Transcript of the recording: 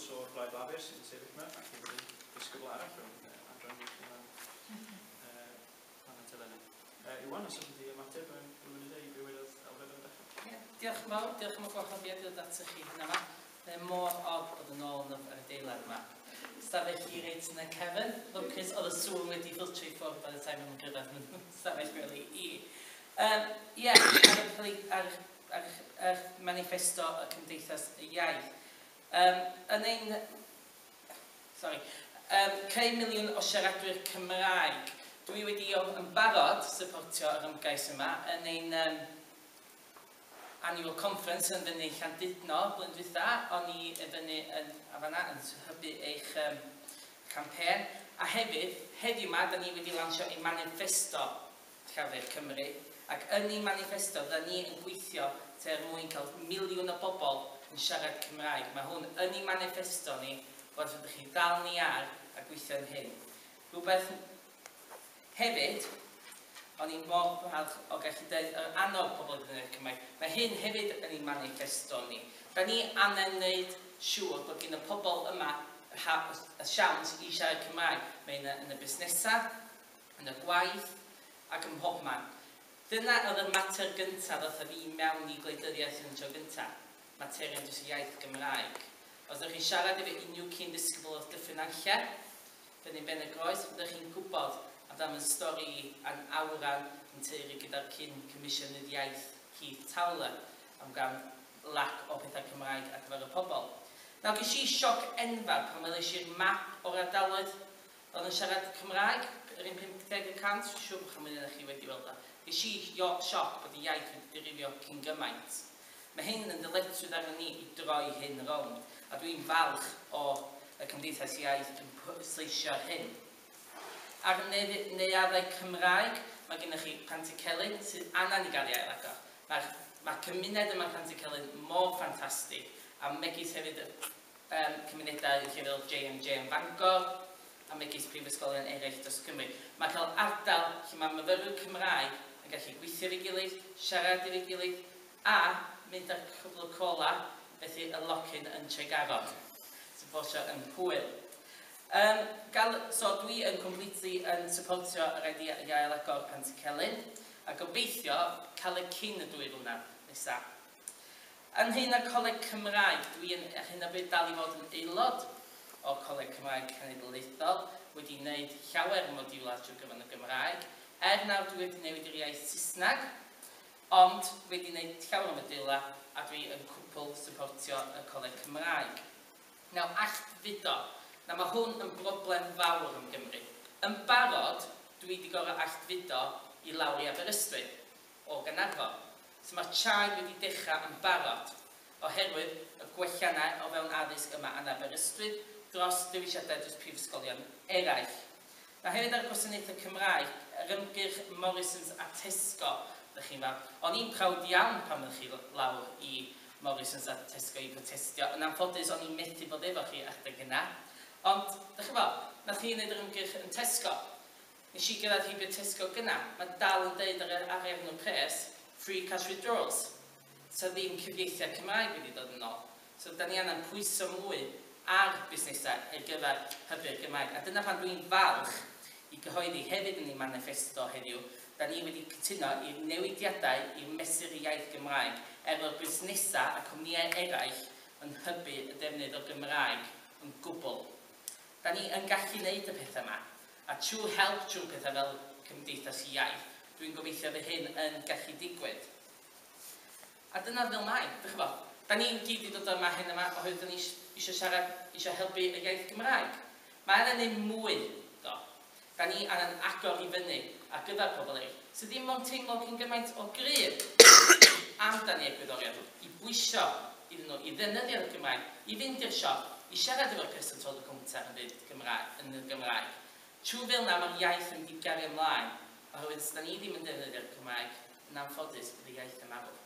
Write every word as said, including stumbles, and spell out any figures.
Jones o'r Blaid Lafur sy'n sefyll yma, ac hefyd yn disgybl arall o'n uh, adran ieithoedd uh, planet eleni. Uh, Iwan, os ydych chi ymateb yn rhywun i be wedodd Elfed ar y dechrau? Yeah, diolch yn fawr, diolch am y gwahoddiad i ddod atoch chi hyn yma. Mae'n mor od bod yn ôl yn yr adeilad yma. Stafell i reit yn y cefn. Lwcus oedd y sŵn wedi ffiltro i ffwrdd by the time o'n gyrraedd yn stafell gwely i. Um, yeah, ar, ar, ar, ar manifesto y Cymdeithas y Iaith. Um, yn ein... Sorry. Um, creu miliwn o siaradwyr Cymraeg. Dwi wedi yn barod supportio yr ymgais yma yn ein um, annual conference yn fyny Llandudno blwyddyn dwytha. O'n i yn fyny yn, a fanna yn hybu eich um, campaign. A hefyd, heddiw yma, da ni wedi lansio ein manifesto Llafur Cymru. Ac yn ein manifesto, da ni yn gweithio er mwyn cael miliwn o bobl yn siarad Cymraeg. Mae hwn yn ein manifesto ni, bod ydych chi ddal ni ar a gweithio yn hyn. Rhywbeth hefyd, o'n i'n mor falch o gallu dweud yr annog pobl i ddefnyddio'r Cymraeg. Mae hyn hefyd yn ein manifesto ni. Da ni angen wneud siŵr bod gen y pobl yma y siawns i siarad Cymraeg. Mae yn y, yn y busnesau, yn y gwaith ac ym mhobman. Dyna oedd y mater gyntaf ddoth â fi mewn i gwleidyddiaeth yn y tro gyntaf. Materion dros y iaith Gymraeg. Os ydych chi'n siarad efo unrhyw cyn disgybl o'r Dyffryn Nantlle, fyny Ben y Groes, fyddwch chi'n gwybod amdan y stori a'n awran yn teulu gyda'r cyn Comisiynydd Iaith Keith Towler am gan lack o pethau Cymraeg ar gyfer y pobl. Nawr, ges i sioc enfawr pan weles i'r map o'r ardaloedd oedd yn siarad Cymraeg, yr un pump deg y cant, siŵr bod chi'n mynd chi wedi weld o. Ges i sioc bod y iaith wedi dirywio cyn gymaint. Mae hyn yn ddyletswydd arno ni i droi hyn rownd, a dwi'n falch o y Cymdeithas Iaith yn pwysleisio hyn. Ar neuaddau Cymraeg, mae gennych chi Pantycelyn sydd angen i gael ei ailagor. Mae'r mae cymuned yma Pantycelyn mor ffantastig, a megis hefyd um, cymunedau lle fel J M J yn Bangor, a megis prifysgolion eraill dros Cymru. Mae cael ardal lle mae myfyrwyr Cymraeg yn gallu gweithio efo'i gilydd, siarad efo'i gilydd, a mynd ar cwpl o cola, felly y locyn yn Tregaron. Sy'n bosio yn hwyl. Um, gal, so dwi yn completely yn supportio yr idea i ail agor Pantycelyn, a gobeithio cael y cyn y dwy flynedd nesaf. Yn hyn â'r Coleg Cymraeg, dwi yn ar hyn o bryd dal i fod yn aelod o'r Coleg Cymraeg Cenedlaethol, wedi wneud llawer o modiwlau trwy gyfrwng y Gymraeg. Er nawr dwi wedi newid i'r iaith Saesneg, ond wedi wneud llawer o modiwlau a dwi yn cwpl supportio y Coleg Cymraeg. Nawr, allfudo. Nawr, mae hwn yn broblem fawr yn Gymru. Yn barod, dwi wedi gorfod allfudo i lawr i Aberystwyth o Gaernarfon. So mae'r chain wedi dechrau yn barod oherwydd y gwelliannau o fewn addysg yma yn Aberystwyth dros dewisiadau dros prifysgolion eraill. Na hefyd ar y gwasanaethau Cymraeg, yr ymgyrch Morrisons a Tesco, ydych chi'n fawr. O'n i'n proud iawn pan ydych chi lawr i Morrisons a Tesco i protestio. Yn anffodus, o'n i'n methu bod efo chi adeg yna. Ond, ydych chi'n fawr, nath chi wneud yr ymgyrch yn Tesco. Nes i gyrraedd heibio Tesco gyna. Mae dal yn deud ar, ar enw pres, "free cash withdrawals". So ddim cyfieithiau Cymraeg wedi dod yn ôl. So da ni angen pwyso mwy ar busnesau ar gyfer hybu'r Gymraeg. A dyna pan dwi'n falch i gyhoeddi hefyd yn ei manifesto heddiw, da ni wedi cytuno i'r newidiadau i'r mesur iaith Gymraeg efo'r busnesau a cwmnïau eraill yn hybu y defnydd o'r Gymraeg yn gwbl. Da ni yn gallu wneud y pethau yma, a trwy help trwy pethau fel Cymdeithas Iaith, dwi'n gobeithio fy hyn yn gallu digwydd. A dyna fel mae, dych chi'n da ni'n gyd i dod yma hyn yma oherwydd da ni eisiau siarad, eisiau helpu y iaith Gymraeg. Mae angen neud mwy, do. Da ni angen agor i fyny ar gyfer pobl eraill, sydd ddim ond teimlo cyn gymaint o gryf amdan i egwyddorion, i bwysio iddyn nhw, i ddefnyddio'r Gymraeg, i fynd i'r siop, i siarad efo'r person tu ôl y cownter yn dweud Gymraeg, yn y Gymraeg. Trwy fel yna mae'r iaith yn mynd i gario ymlaen, oherwydd os da ni ddim yn defnyddio'r Cymraeg, yn anffodus bydd y iaith yn marw.